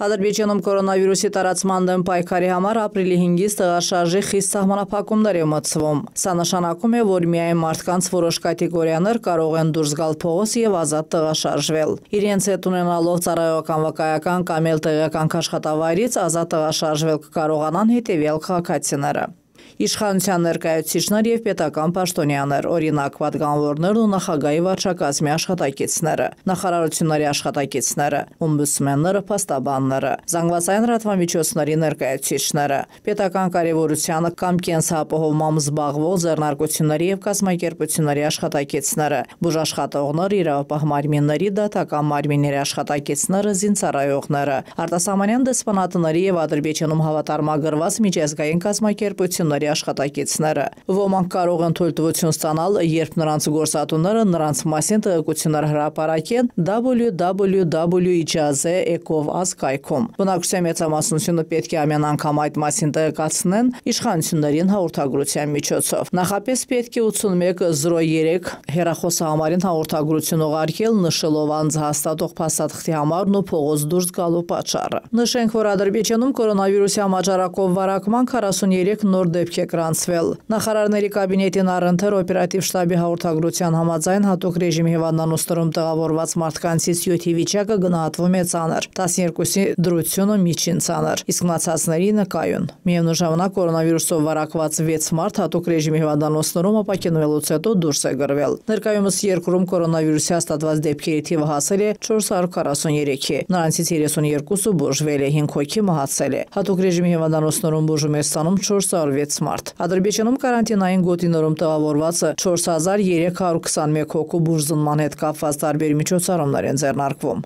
Ադրբեջանում կորոնավիրուսի տարածման դեմ պայքարի համար ապրիլի 5-ից տեղաշարժի խիստ սահմանափակումներ է մտցվում։ Սա նշանակում է, որ միայն մարդկանց որոշ կատեգորիաներ կարող են դուրս գալ փողոց եւ ազատ տեղաշարժվել։ Իրենց հետ ունենալով ծառայողական վկայական կամ էլ տեղական աշխատավայրից ազատ տեղաշարժվել կկարողանան հետեւյալ քաղաքացիները։ Իշխանության ներկայացուցիչներ եւ պետական պաշտոնյաներ, օրինակ պատգամավորներն ու նախագահի վարչակազմի աշխատակիցները, նախարարությունների աշխատակիցները, օմբուդսմենները, փաստաբանները, զանգվածային լրատվամիջոցների ներկայացուցիչները, պետական կարևորությանը կամ կենսապահովմամբ զբաղվող ձեռնարկությունների եւ կազմակերպությունների աշխատակիցները, բուժաշխատողներ, իրավապահ մարմինների, դատական մարմինների աշխատակիցները, զինծառայողները, արտասահմանյան դեսպանատների եւ Ադրբեջանում հավատարմագրված միջազգային կազմակերպությունների աշխատակիցները։ Ոմանք կարող են թույլտվություն ստանալ, երբ նրանց գործատուները նրանց մասին տեղեկություններ հրապարակեն www.ijaze.eco.az կայքում։ Բնակչության մեծամասնությունը պետք է ամեն անգամ այդ մասին տեղեկացնեն իշխանություններին հաղորդագրության միջոցով։ Նախապես պետք է 8103 հեռախոսահամարին հաղորդագրություն ուղարկել, նշելով անձը հաստատող փաստաթղթի համարն ու փողոց դուրս գալու պատճառը։ Նշենք, որ Ադրբեջանում կորոնավիրուսի համաճարակով վարակման 43 նոր դեպք է գրանցվել։ Նախարարների կաբինետին առընթեր օպերատիվ շտաբի հաղորդագրության համաձայն հատուկ ռեժիմի հիվանդանոցներում տեղավորված մարդկանցից 7-ի վիճակը գնահատվում է ծանր, 12-ի դրությունը միջին ծանր, իսկ մնացածների նկայուն։ Միևնույն ժամանակ կորոնավիրուսով վարակված 6 մարդ հատուկ ռեժիմի հիվանդանոցներում ապաքինվելուց հետո դուրս է գրվել։ Ներկայումս երկրում կորոնավիրուսի հաստատված դեպքերի թիվը հասել է 443-ի, նրանցից 32-ը բուժվել է, 5 հոգի մահացել է։ Հատուկ ռեժիմի հիվանդանոցներում բուժում է ստանում 406 մարդ։ Ադրբեջանում կարանտինային գոտիներում տեղավորված 4321 հոգու բուժզնման հետ կապված տարբեր միջոցառումներ են ձեռնարկվում։